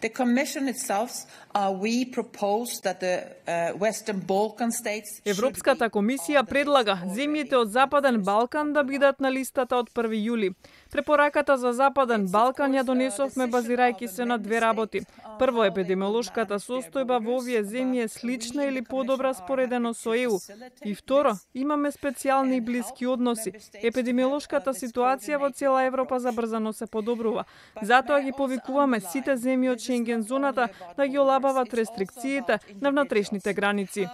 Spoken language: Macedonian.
The Commission itself, we propose that the Western Balkan states. Европската комисија предлага земјите од Западен Балкан да бидат на листата од 1 јули. Препораката за Западен Балкан ја донесовме базирајќи се на две работи. Прво, епидемиолошката состојба во овие земји е слична или подобра споредено со ЕУ. И второ, имаме специјални и блиски односи. Епидемиолошката ситуација во цела Европа забрзано се подобрува. Затоа ги повикуваме сите земји од Шенген зоната да ги олабават рестрикциите на внатрешните граници.